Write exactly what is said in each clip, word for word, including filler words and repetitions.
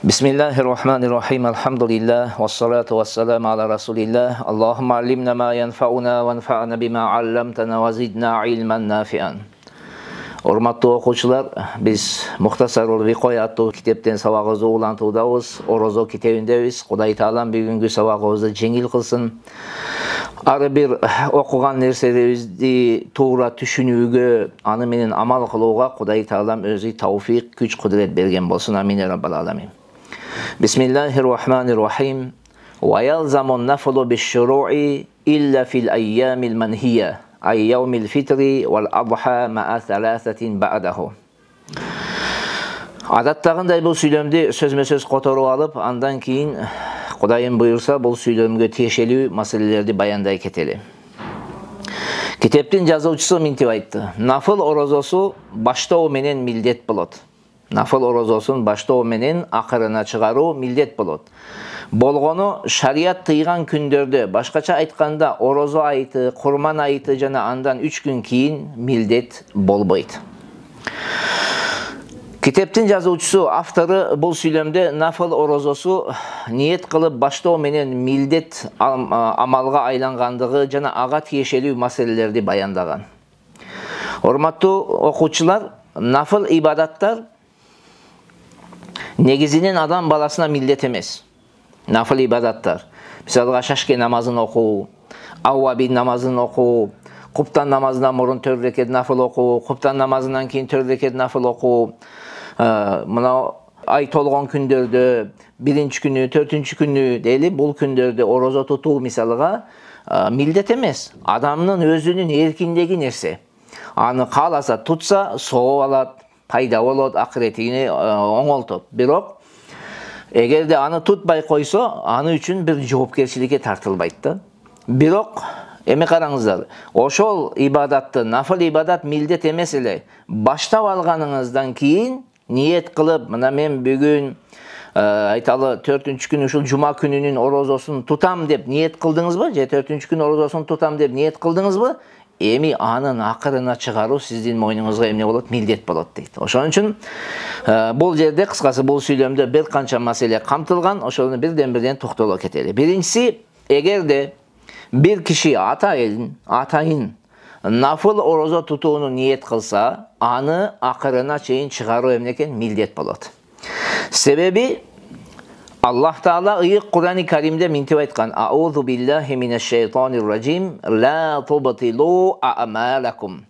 Bismillahirrahmanirrahim. Alhamdulillah. Wassalatu wassalamu ala rasulillah. Allahumma allimna ma yanfa'una wanfa'na bima 'allamtana wa zidna ilman nafi'an. Урматтуу окуучулар, биз Мухтасарул Викоя аттуу китептен сабагыбызды улантуудабыз. Орозо китебиндебиз. Кудай Таалам бүгүнкү сабагыбызды жеңил кылсын. Ар бир окуган нерселерибизди туура түшүнүүгө, аны менен амал кылууга Кудай Таалам өзү тауфик, күч, кудурет берген болсун. Амин я раббал аламин. Бисмиллахир-рахманир-рахим. Ва ялзамун нафлу биш-шуру'i илля фил айямил манхия. Ай яумил фитри вал адха ма саласатин ба'даху. Адаттагындай бул сүйлөмдү сөзмө-сөз которуп алып, андан кийин Кудайым буйрса бул сүйлөмгө тиешелүү маселелерди баяндай кетели. Китептин жазуучусу мынтип айтты: нафыл орозосу баштоо менен милдет болот. Нафыл орозосун баштоо менен акырына чыгаруу милдет болот. Болгону шарият тыйган күндөрдө, башкача айтканда орозо айты, курман айты жана андан үч күн кийин милдет болбойт. Китептин жазуучусу, автору бул сүйлөмдө нафыл орозосу ниет кылып баштоо менен милдет амалга айлангандыгы жана ага тиешелүү маселелерди баяндаган. Урматтуу окуучулар, нафыл ибадаттар негизинен адам баласына милдет эмес. Нафыл ибадаттар, мисалга шашке намазын окуу, аввабин намазын окуу, куптан намазынан мурун төрт рекет нафыл окуу, куптан намазынан кийин төрт рекет нафыл окуу, мына ай толгон күндөрдө, биринчи күнү, төртүнчү күнү дейли, бул күндөрдө орозо тутуу мисалга милдет эмес. Адамдын өзүнүн эркиндеги нерсе. Аны кааласа тутса, сооп алат, пайда болот, акыретине оңолтот. Бирок эгерде аны тутпай койсо, аны үчүн бир жоопкерчиликке тартылбайт да. Бирок эми караңыздар, ошол ибадатты, нафыл ибадат милдет эмес эле, баштап алганыңыздан кийин ниет кылып, мына мен бүгүн айталы төртүнчү күн ушул жума күнүнүн орозосун тутам деп ниет кылдыңызбы? Же төртүнчү күн орозосун тутам деп ниет кылдыңызбы? Эми анын акырына чыгаруу сиздин мойнуңузга эмне болот? Милдет болот дейт. Ошон үчүн бул жерде кыскасы бул сүйлөмдө бир канча маселе камтылган, ошону бирден-бирден токтоло кетели. Биринчиси, эгерде бир киши атайын, атайын нафыл орозо тутууну ниет кылса, аны акырына чейин чыгаруу эмне экен? Милдет болот. Себеби Аллах Таала ыйык Кур'ани Каримде мынтип айткан: Аузу биллахи минаш шайтанир ражим, ла тубтилу а'малакум.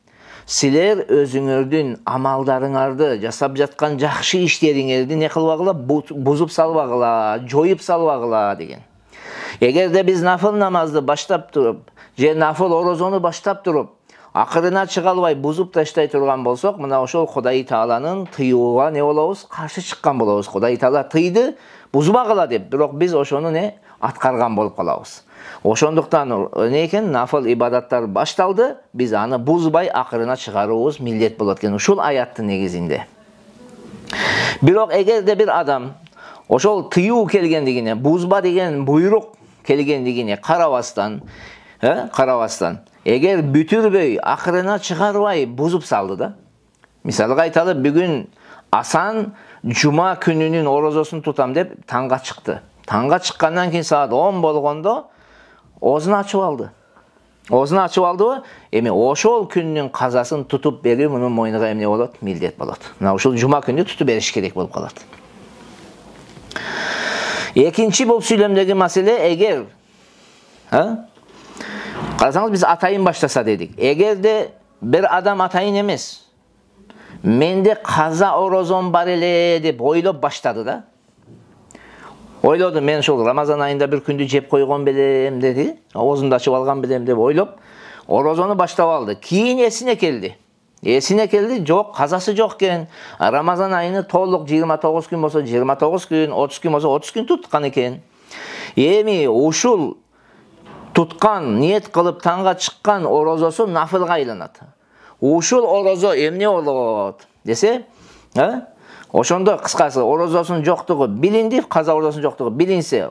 Силер өзүңөрдүн амалдарыңарды, жасап жаткан жакшы иштериңерди не кылбагыла, бузуп салбагыла, жоюп салбагыла деген. Эгерде биз нафыл намазды баштап туруп, же нафыл орозону баштап туруп, акырына чыга албай бузуп таштай турган болсок, мына ошол Кудай Тааланын тыюуга не болобуз? Каршы чыккан болобуз. Кудай Таала тыйды, бузбагыла деп, бирок биз ошону не аткарган болуп калабыз. Ошондуктан не экен? Нафыл ибадаттар башталды, биз аны бузбай акырына чыгаруубуз милдет болот экен. Ушул аяттын негизинде. Бирок эгерде бир адам ошол тыюу келгендигине, бузба деген буйрук келгендигине карабастан, э, карабастан, эгер бүтүрбөй, акырына чыгарбай бузуп салды да. Мисалга айталы, бүгүн Асан жума күнүнүн орозосун тутам деп таңга чыкты. Таңга чыккандан кийин саат он болгондо оозун ачып алды. Оозун ачып алдыбы? Эми ошол күндүн казасын тутуп берүү мунун мойнуна эмне болот? Милдет болот. Мына ушул жума күнү тутуп бериш керек болуп калат. Экинчи бул сүйлөмдөгү маселе, эгер карасаңыз биз атайын баштаса дедик. Эгерде бир адам атайын эмес, менде каза орозом бар эле деп ойлоп баштады да. Ойлоду, мен ушул Рамазан айында бир күндү жеп койгон белем деди, оозумду ачып алган белем деп ойлоп, орозону баштап алды. Кийин эсине келди. Эсине келди, жок, казасы жок экен. Рамазан айыны толук жыйырма тогуз күн болсо жыйырма тогуз күн, отуз күн болсо отуз күн туткан экен. Эми ушул туткан, ниет кылып таңга чыккан орозосу нафылга айланат. Ушул орозо эмне болот десе, ошондо кыскасы орозосунун жоктугу билинди, каза орозосунун жоктугу билинсе,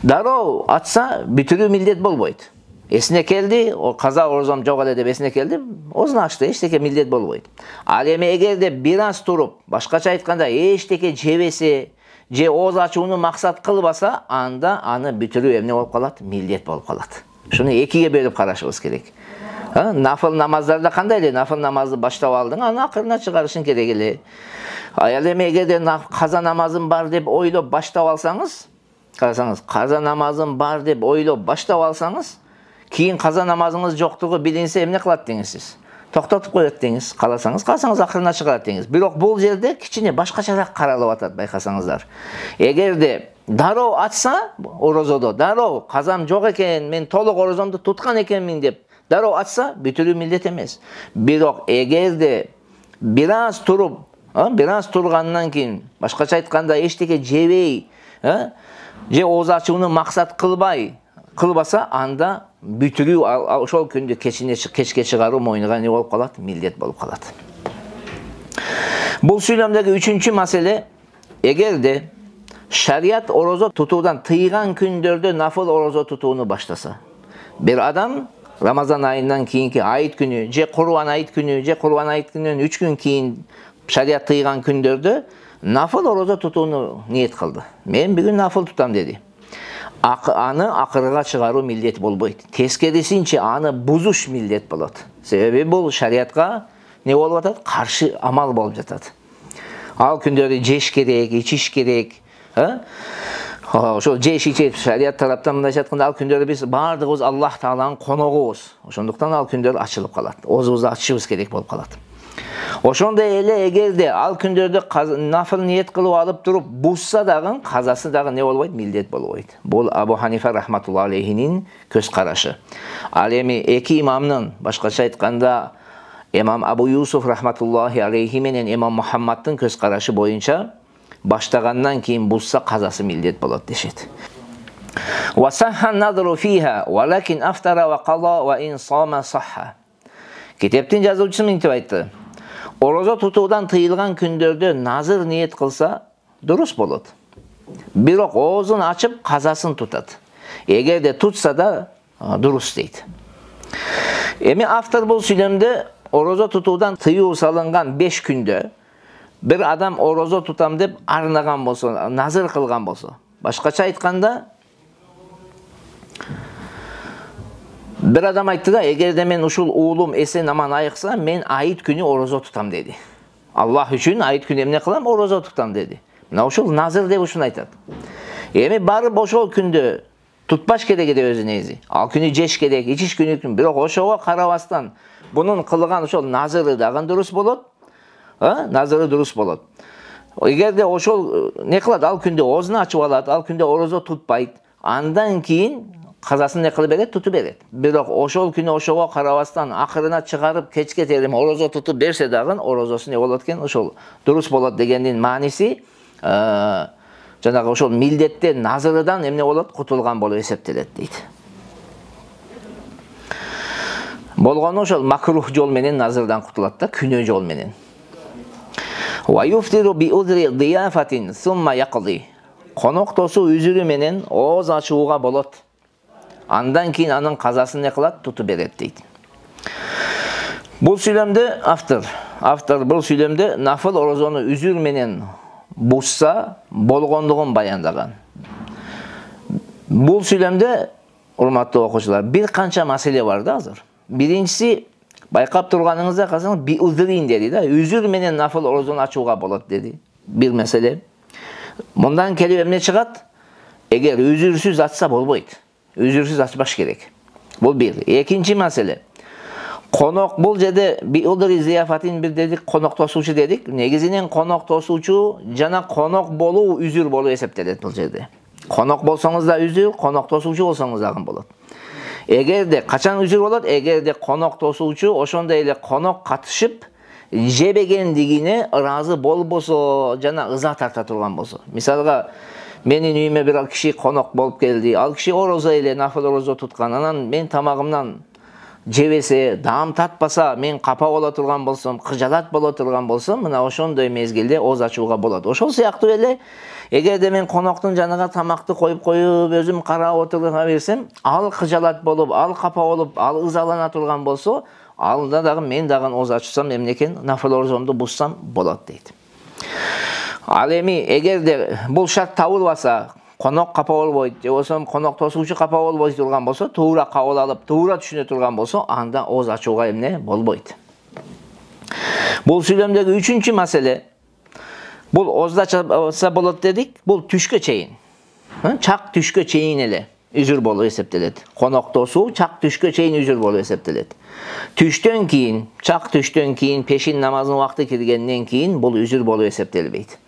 дароо атса бүтүрүү милдет болбойт. Эсине келди, о каза орозом жок эле деп эсине келди, оозун ачты, эчтеке милдет болбойт. Ал эми эгерде бир аз туруп, башкача айтканда эчтеке жебесе, же ооз ачууну максат кылбаса, анда аны бүтүрүү эмне болуп калат? Милдет болуп калат. Шуну экиге бөлүп карашыбыз керек. Нафыл намаздарда кандай эле нафыл намазды баштап алдың, аны акырына чыгарышың керек эле. Аял эми эгерде каза намазым бар деп ойлоп баштап алсаңыз, карасаңыз, каза намазым бар деп ойлоп баштап алсаңыз, кийин каза намазыңыз жоктугу билинсе эмне кылат деңиз сиз? Токтотуп коет деңиз, кааласаңыз, кааласаңыз акырына чыгарат деңиз. Бирок бул жерде кичине башкачараак каралып атат, байкасаңыздар. Эгерде дароо ачса, орозодо дароо казам жок экен, мен толук орозомду туткан экенмин деп дароо ачса, бүтүрүү милдет эмес. Бирок эгерде бир аз туруп, бир аз тургандан кийин, башкача айтканда эчтеке жебей, же ооз ачууну максат кылбай, кылбаса, анда бүтүрүү ошол күндү кечине кечке чыгаруу мойнуга не болуп калат? Милдет болуп калат. Бул сүйлөмдөгү үчүнчү маселе, эгерде шарият орозо тутуудан тыйган күндөрдө нафыл орозо тутууну баштаса, бир адам Рамазан айынан кийинки айт күнү, же Курбан айт күнү, же Курбан айт күнүнөн үч күн кийин шарият тыйган күндөрдө нафыл орозо тутууну ниет кылды. Мен бүгүн нафыл тутам деди. Аны акырга чыгаруу милдет болбойт. Тескерисинче аны бузуш милдет болот. Себеби бул шариятка не болуп атат? Каршы амал болуп жатат. Ал күндөрдө жеш керек, ичиш керек, ошол жеш ичип шарият тараптан мындайча айтканда, ал күндөрдө биз баардыгыбыз Аллах Тааланын коногубуз. Ошондуктан ал күндөр ачылып калат. Оозубузду ачышыбыз керек болуп калат. Ошондой эле эгерде ал күндөрдө нафыл ниет кылып алып туруп бузса дагы, казасы дагы не болбойт? Милдет болбойт. Бул Абу Ханифа рахматуллаху алейхинин көз карашы. Ал эми эки имамдын, башкача айтканда, имам Абу Юсуф рахматуллахи алейхи менен имам Мухаммаддын көз карашы боюнча баштагандан кийин бузса казасы милдет болот дешет. Wa sahha an-nadru fiha, walakin aftara wa qada wa in sama sahha. Китептин жазуучусу мынтип айтты. Орозо тутуудан тыйылган күндөрдө назыр ниет кылса дурус болот. Бирок оозун ачып казасын тутат. Эгерде тутса да дурус дейт. Эми автор бул сүйлөмдө орозо тутуудан тыюу салынган беш күндө бир адам орозо тутам деп арнаган болсо, назыр кылган болсо, башкача айтканда, бир адам айтты да, эгерде мен ушул уулум эсен аман айыкса, мен айт күнү орозо тутам деди. Аллах үчүн айт күнү эмне кылам? Орозо тутам деди. Мына ушул назыр деп ушуну айтат. Эми барып ошол күндө тутпаш керек эди өзү негизи. Ал күнү жеш керек, ичиш күнү, бирок ошого карабастан бунун кылган ошол назыры дагы дурус болот. Назыры дурус болот. Эгерде ошол не кылат? Ал күндө оозун ачып алат, ал күндө орозо тутпайт. Андан кийин казасын не кылып берет? Тутуп берет. Бирок ошол күнү ошого карабастан акырына чыгарып кечке терим орозо тутуп берсе дагы орозосу не болот экен? Ошол дурус болот дегендин мааниси жанагы ошол милдетте назырыдан эмне болот? Кутулган болуп эсептелет дейт. Болгону ошол макрух жол менен назырдан кутулат да, күнөө жол менен. Wa yuftiru bi udri diyafatin thumma yaqdi. Коноктосу үзүрү менен ооз ачууга болот. Андан кийин анын казасын не кылат? Тутуп берет дейт. Бул сүйлөмдө автор, автор бул сүйлөмдө нафыл орозону үзүр менен бузса болгондугун баяндаган. Бул сүйлөмдө, урматтуу окуучулар, бир канча маселе бар да азыр. Биринчиси, байкап турганыңызда казаң би узрин деди да, үзүр менен нафыл орозону ачууга болот деди. Бир маселе. Мындан келип эмне чыгат? Эгер үзүрсүз ачса болбойт. Үзүрсүз ачпаш керек. Бул бир. Экинчи маселе. Конок, бул жерде би удри зияфатин бир дедик, конок тосуучу дедик. Негизинен конок тосуучу жана конок болуу үзүр болуп эсептелет бул жерде. Конок болсоңуз да үзүр, конок тосуучу болсоңуз дагы болот. Эгерде качан үзүр болот? Эгерде конок тосуучу ошондой эле конок катышып жебегендигине ыраазы болбосо жана ыза тарта турган болсо. Мисалга, менин үйүмө бир киши конок болуп келди. Ал киши орозо эле, нафыл орозо туткан. Анан мен тамагымдан жебесе, даам татпаса, мен капа боло турган болсом, кыжалат боло турган болсом, мына ошондой мезгилде ооз ачууга болот. Ошол сыяктуу эле, эгерде мен коноктун жанага тамакты коюп коюп, өзүм карап отура берсем, ал кыжалат болуп, ал капа болуп, ал ызалана турган болсо, алда дагы мен дагы ооз ачсам эмне экен? Нафыл орозомду бузсам болот дейт. Ал эми эгерде бул шарт табылбаса, конок капа болбойт, же болбосо конок тосуучу капа болбой турган болсо, туура кабыл алып, туура түшүнө турган болсо, анда ооз ачууга эмне болбойт. Бул сүйлөмдөгү үчүнчү маселе, бул оозду ачса болот дедик, бул түшкө чейин. Чак түшкө чейин эле үзүр болуп эсептелет. Конок тосуу чак түшкө чейин үзүр болуп эсептелет. Түштөн кийин, чак түштөн кийин, пешин намазынын убакыты киргенден кийин бул үзүр болуп эсептелбейт.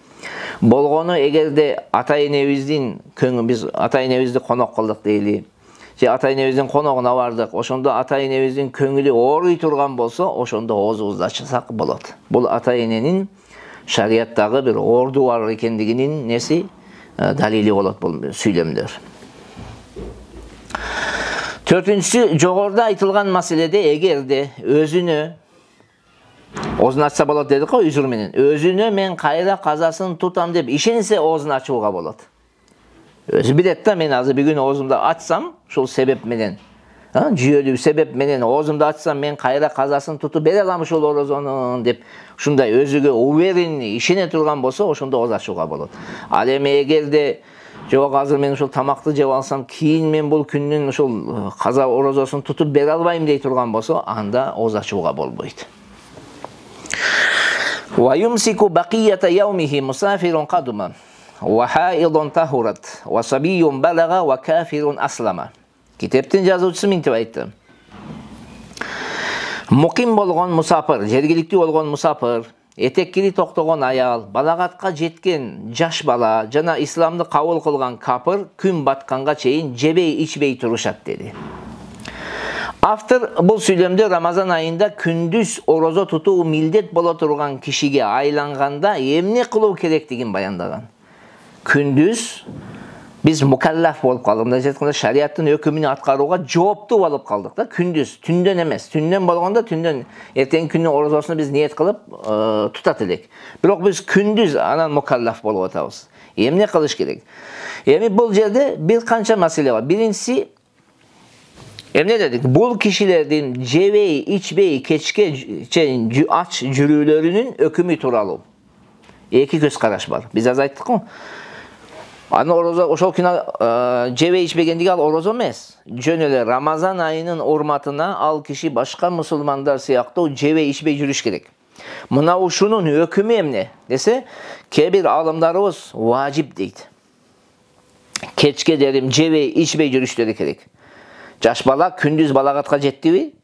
Болгону эгерде ата-энебиздин көңүл, биз ата-энебизди конок кылдык дейли, же ата-энебиздин коногуна бардык, ошондо ата-энебиздин көңүлү ооруй турган болсо, ошондо оозубузду ачсак болот. Бул ата-эненин шариаттагы бир орду бар экендигинин неси далили болот бул сүйлөмдөр. Төртүнчүсү, жогоруда айтылган маселеде эгерде өзүнө оозун ачса болот дедик го, үзүр менен. Өзүнө мен кайра казасын тутам деп ишенсе оозун ачууга болот. Өзү билет да, мен азыр бүгүн оозумду ачсам, ушул себеп менен, жүйөлүү себеп менен оозумду ачсам, мен кайра казасын тутуп бере алам ушул орозонун деп, ушундай өзүгө уверенный ишене турган болсо, ошондо ооз ачууга болот. Ал эми эгерде жок, азыр мен ушул тамакты жеп алсам, кийин мен бул күндүн ушул каза орозосун тутуп бере албайм дей турган болсо, анда ооз ачууга болбойт. Ва юмсику бакията яумихи мусафирун кадума ва хаидун тахурат ва сабийун балага ва кафирун аслама. Китептин жазуучусу мынтип айтты. Муким болгон мусафир, жергиликтүү болгон мусафир, этеккири токтогон аял, балагатка жеткен жаш бала жана исламды кабыл кылган капыр күн батканга чейин жебей ичпей турушат деди. Автор бул сүйлөмдө Рамазан айында күндүз орозо тутуу милдет боло турган кишиге айланганда эмне кылуу керектигин баяндаган. Күндүз биз мукаллаф болуп калдык. Мындай айтканда, шариаттын өкүмүн аткарууга жооптуу болуп калдык да. Күндүз, түндөн эмес. Түндөн болгондо түндөн эртеңки күнүн орозосуну биз ниет кылып тутат элек. Бирок биз күндүз анан мукаллаф болуп атабыз. Эмне кылыш керек? Эми бул жерде бир канча маселе бар. Биринчиси, эмне дедик? Бул кишилердин жебей, ичпей, кечке чейин ач жүрүүлөрүнүн өкүмү тууралуу эки көз караш бар. Биз азыр айттык го. Аны орозо ошол күнү жебей ичпегендиги ал орозо эмес. Жөн эле Рамазан айынын урматына ал киши башка мусулмандар сыяктуу жебей ичпей жүрүш керек. Мына ушунун өкүмү эмне десе, кээ бир аалымдарыбыз важип дейт. Кечке дерим жебей ичпей жүрүштөрү керек. Жаш бала күндүз балагатка жеттиби?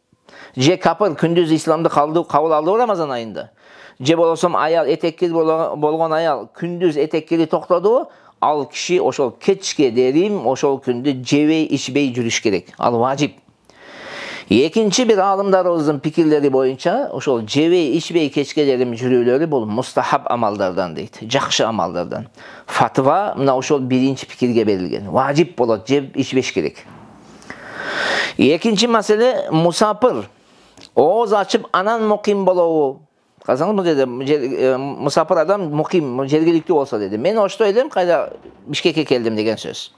Же капыр күндүз исламды кабыл алдыбы Рамазан айында? Же болосом аял, этеккири болгон аял күндүз этеккири токтодубу? Ал киши ошол кечке дерим ошол күндү жебей ичпей жүрүш керек. Ал важип. Экинчи бир аалымдарыбыздын пикирлери боюнча, ошол жебей ичпей кечке дерим жүрүүлөрү бул мустахаб амалдардан дейт. Жакшы амалдардан. Фатва мына ошол биринчи пикирге берилген. Важип болот, жеп ичпеш керек. Экинчи маселе, мусапыр ооз ачып анан муким болобу? Казаңыз, бул жерде мусапыр адам муким, жергиликтүү болсо деди. Мен ошто элем, кайда Бишкекке келдим деген сөз.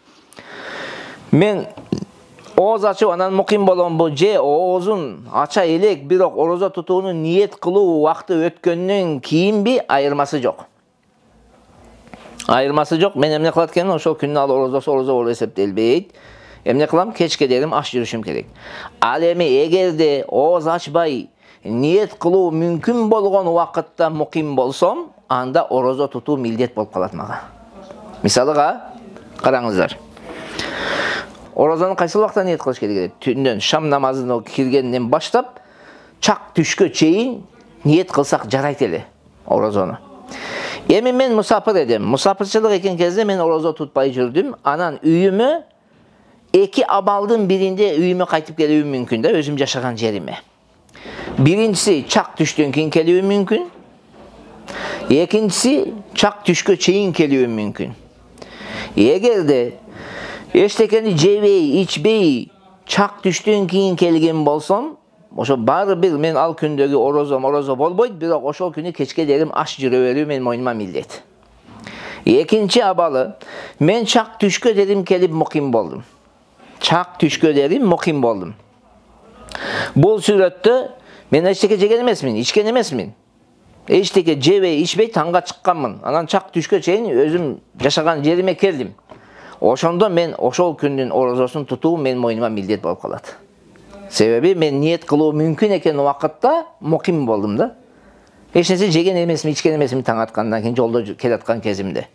Мен ооз ачып анан муким боломбу, же оозун ача элек, бирок орозо тутууну ниет кылуу убакыты өткөндөн кийинби, айырмасы жок. Айырмасы жок. Мен эмне кылат экенмин? Ошол күндүн ал орозосу орозо болуп эсептелбейт. Эмне кылам? Кечке дерим аш жүрүшүм керек. Ал эми эгерде ооз ачпай ниет кылуу мүмкүн болгон убакытта муким болсом, анда орозо тутуу милдет болуп калат мага. Мисалыга караңыздар. Орозону кайсы убакта ниет кылыш керек? Түндөн шам намазына киргенден баштап чак түшкө чейин ниет кылсак жарайт эле орозону. Эми мен мусапыр эдим. Мусапырчылык экен кезде мен орозо тутпай жүрдүм. Анан үйүмө эки абалдын биринде үйүмө кайтып келүүм мүмкүн да, өзүм жашаган жериме. Биринчиси чак түштөн кийин келүүм мүмкүн. Экинчиси чак түшкө чейин келүүм мүмкүн. Эгерде эчтекени жебей, ичпей чак түштөн кийин келген болсом, ошо баары бир мен ал күндөгү орозо орозо болбойт, бирок ошол күнү кечке дерим аш жүрө берүү менин мойнума милдет. Экинчи абалы, мен чак түшкө дерим келип муким болдум. Чак түшкө дерим муким болдум. Бул сүрөттө мен эчтеке жеген эмесмин, ичкен эмесмин. эчтеке жебей ичпей таңга чыкканмын. Анан чак түшкө чейин өзүм жашаган жериме келдим. Ошондо мен ошол күндүн орозосун тутуу менин мойнума милдет болуп калат. Себеби мен ниет кылуу мүмкүн экен убакытта муким болдум да. Эч нерсе жеген эмесмин, ичкен эмесмин таң аткандан кийин жолдо келаткан кезимде.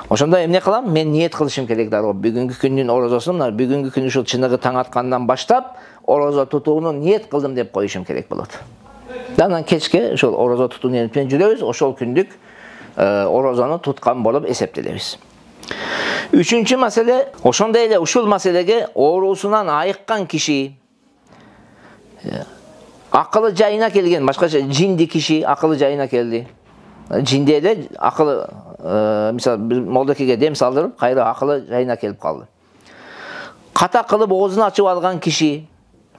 Ошондо эмне кылам? Мен ниет кылышым керек дароо. Бүгүнкү күндүн орозосун, бүгүнкү күн ушул чыныгы таң аткандан баштап орозо тутууну ниет кылдым деп коюшум керек болот. Анан кечке ошол орозо тутуу ниет менен жүрөбүз, ошол күндүк орозону туткан болуп эсептелебиз. Үчүнчү маселе, ошондой эле ушул маселеге оорусунан айыккан киши, акылы жайына келген, башкача жинди киши акылы жайына келди. Жинди эле акылы, мисалы, молдокеге дем салдырып, кайра акылы жайына келип калды. Ката кылып оозун ачып алган киши,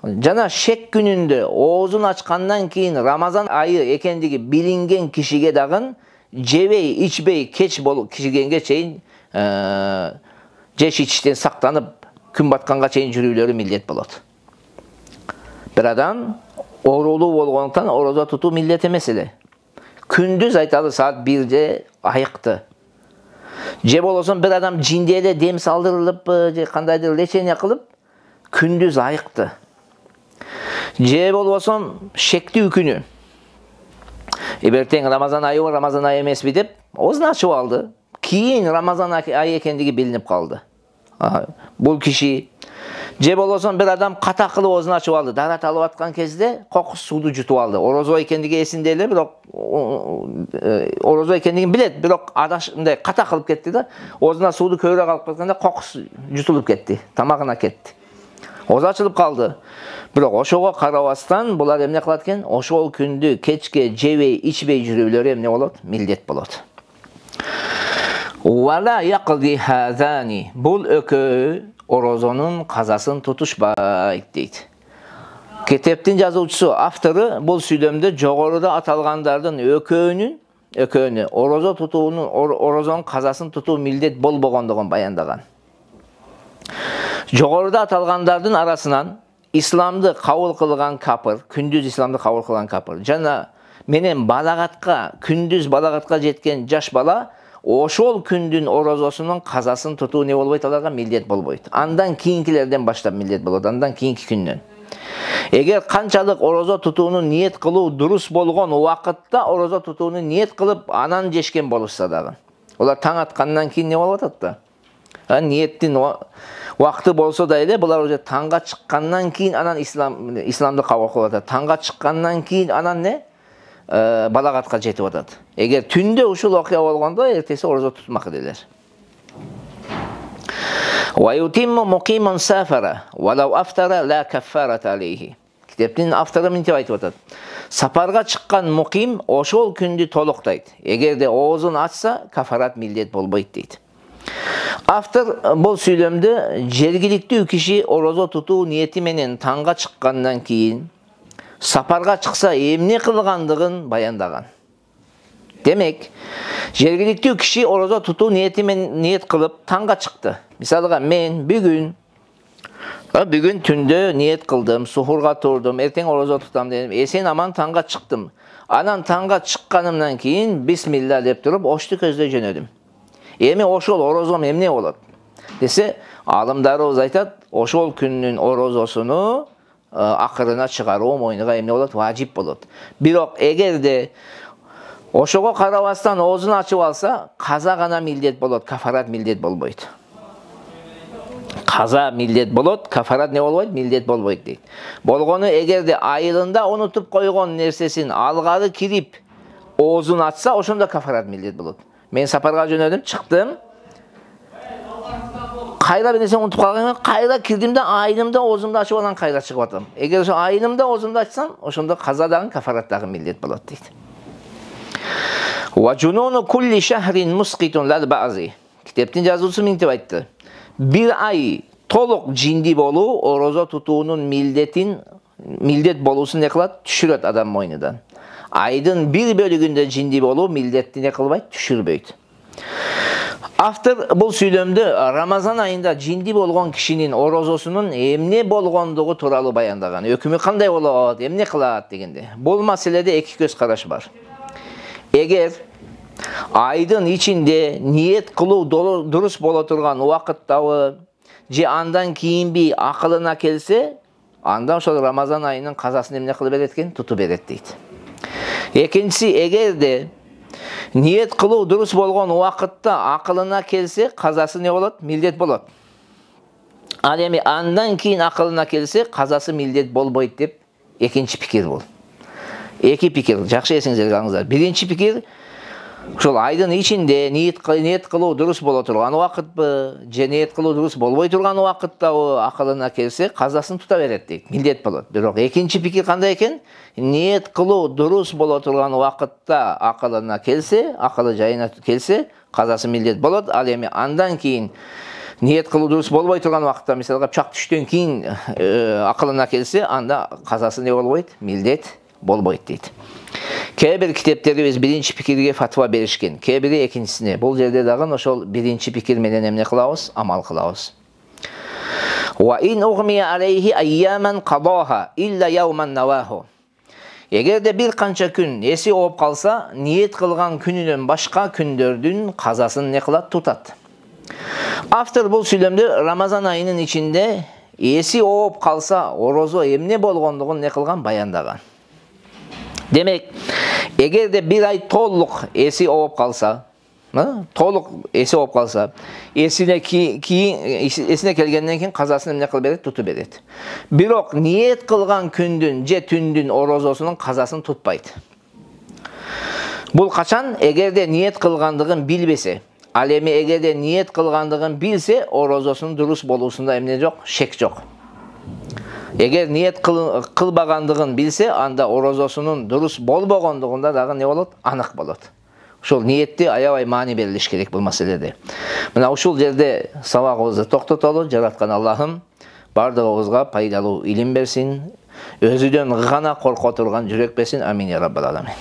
жана шек күнүндө оозун ачкандан кийин Рамазан айы экендиги билинген кишиге дагы жебей, ичпей кеч болуп кишигенге чейин жеш ичиштен сактанып, күн батканга чейин жүрүүлөрү милдет болот. Бир адам оорулуу болгондуктан орозо тутуу милдет эмес эле. Күндүз айталы саат бирде айыкты. Же болосо бир адам жинди эле дем салдырылып, же кандайдыр лечение кылып, күндүз айыкты. Же болбосо шектүү күнү. Эбертең Рамазан айы, Рамазан айы эмеспи деп оозун ачып алды. Кийин Рамазан айы экендиги билинип калды. Бул киши. Же болосо бир адам ката кылып оозун ачып алды. Дарат алып аткан кезде кокус сууду жутуп алды. Орозо экендиги эсинде эле, бирок орозо экендигин билет, бирок адаш мындай ката кылып кетти да. Оозуна сууду көбүрөөк алып кеткенде кокус жутулуп кетти, тамагына кетти. Оозу ачылып калды. Бирок ошого карабастан булар эмне кылат экен? Ошол күндү кечке жебей, ичпей жүрүүлөрү эмне болот? Милдет болот. Вала яқди хазани. Бул өкөө орозонун казасын тутушпайт дейт. Китептин жазуучусу, автору бул сүйлөмдө жогоруда аталгандардын өкөөнүн, өкөөнү орозо тутуунун, орозонун казасын тутуу милдет болбогондугун баяндаган. Жогоруда аталгандардын арасынан исламды кабыл кылган капыр, күндүз исламды кабыл кылган капыр жана менен балагатка, күндүз балагатка жеткен жаш бала ошол күндүн орозосунун казасын тутуу не болбойт, аларга милдет болбойт. Андан кийинкилерден баштап милдет болот, андан кийинки күндөн. Эгер канчалык орозо тутууну ниет кылуу дурус болгон убакытта орозо тутууну ниет кылып анан жешкен болушса дагы, олар таң аткандан кийин не болуп атат да? Ниеттин убакыты болсо да эле, булар уже таңга чыккандан кийин анан ислам исламды кабыл кылып атат. Таңга чыккандан кийин анан не? Балагатка жетип атат. Эгер түндө ушул окуя болгондо, эртеси орозо тутмак элелер. Ва ютимму мукимун сафара валау афтара ла каффарат алейхи. Китептин автору мынтип айтып атат. Сапарга чыккан муким ошол күндү толуктайт. Эгерде оозун ачса, кафарат милдет болбойт дейт. Автор бул сүйлөмдө жергиликтүү киши орозо тутуу ниети менен таңга чыккандан кийин сапарга чыкса эмне кылгандыгын баяндаган. Демек, жергиликтүү киши орозо тутуу ниети менен ниет кылып таңга чыкты. Мисалга мен бүгүн бүгүн түндө ниет кылдым, сухурга турдум, эртең орозо тутам дедим, эсен аман таңга чыктым. Анан таңга чыкканымдан кийин бисмилла деп туруп ошту көздөй жөнөдүм. Эми ошол орозом эмне болот десе, алымдарыбыз айтат, ошол күндүн орозосуну акырына чыгаруу мойнуга эмне болот? Важип болот. Бирок эгерде ошого карабастан оозун ачып алса, каза гана милдет болот, кафарат милдет болбойт. Каза милдет болот, кафарат не болбойт? Милдет болбойт дейт. Болгону эгерде айылында унутуп койгон нерсесин алгары кирип оозун ачса, ошондо кафарат милдет болот. Мен сапарга жөнөдүм, чыктым. Кайра бир нерсе унутуп калган, кайра кирдим да айылымда оозумду ачып анан кайра чыгып атам. Эгер ошо айылымда оозумду ачсам, ошондо каза дагы кафарат дагы милдет болот дейт. Ва жунуну кулли шахрин мусқитун лал баъзи. Китептин жазуучусу мынтип айтты. Бир ай толук жинди болуу орозо тутуунун милдетин, милдет болуусун не кылат? Түшүрөт адам мойнудан. Айдын бир бөлүгүндө жинди болуу милдетти не кылбайт? Түшүрбөйт. Автор бул сүйлөмдө Рамазан айында жинди болгон кишинин орозосунун эмне болгондугу тууралуу баяндаган. Өкүмү кандай болот, эмне кылат дегенде. Бул маселеде эки көз караш бар. эгер айдын ичинде ниет кылуу дурус боло турган убакыттабы же андан кийинби акылына келсе, анда ошол Рамазан айынын казасын эмне кылып берет экен? Тутуп берет дейт. Экинчиси, эгерде ниет кылуу дурус болгон убакытта акылына келсе, казасы не болот? Милдет болот. Ал эми андан кийин акылына келсе, казасы милдет болбойт деп экинчи пикир бул. Эки пикир, жакшы эсиңиздерге алыңыздар. Биринчи пикир, ошол айдын ичинде ниет ниет кылуу дурус боло турган убакытпы, же ниет кылуу дурус болбой турган убакыттабы акылына келсе, казасын тута берет дейт. Милдет болот. Бирок экинчи пикир кандай экен? Ниет кылуу дурус боло турган убакытта акылына келсе, акылы жайына келсе, казасы милдет болот. Ал эми андан кийин ниет кылуу дурус болбой турган убакытта, мисалга пычак түштөн кийин акылына келсе, анда казасы не болбойт? Милдет болбойт дейт. Кээ бир китептерибиз биринчи пикирге фатва беришкен, кээ бири экинчисине. Бул жерде дагы ошол биринчи пикир менен эмне кылабыз? Амал кылабыз. Ва ин угмия алейхи айяман кадоха илля яуман наваху. Эгерде бир канча күн эси ооп калса, ниет кылган күнүнөн башка күндөрдүн казасын не кылат? Тутат. Автор бул сүйлөмдө Рамазан айынын ичинде эси ооп калса, орозо эмне болгондугун не кылган? Баяндаган. Демек, эгерде бир ай толук эси ооп калса, толук эси ооп калса, эсине кийин эсине келгенден кийин казасын эмне кылып берет? Тутуп берет. Бирок ниет кылган күндүн же түндүн орозосунун казасын тутпайт. Бул качан? Эгерде ниет кылгандыгын билбесе. Ал эми эгерде ниет кылгандыгын билсе, орозосунун дурус болуусунда эмне жок? Шек жок. Эгер ниет кылбагандыгын билсе, анда орозосунун дурус болбогондугунда дагы не болот? Анык болот. Ушул ниетти аябай маани берилиш керек бул маселеде. Мына ушул жерде сабагыбызды токтотолу. Жараткан Аллахым бардыгыбызга пайдалуу илим берсин, өзүдөн гана корко турган жүрөк берсин. Амин я раббал аламин.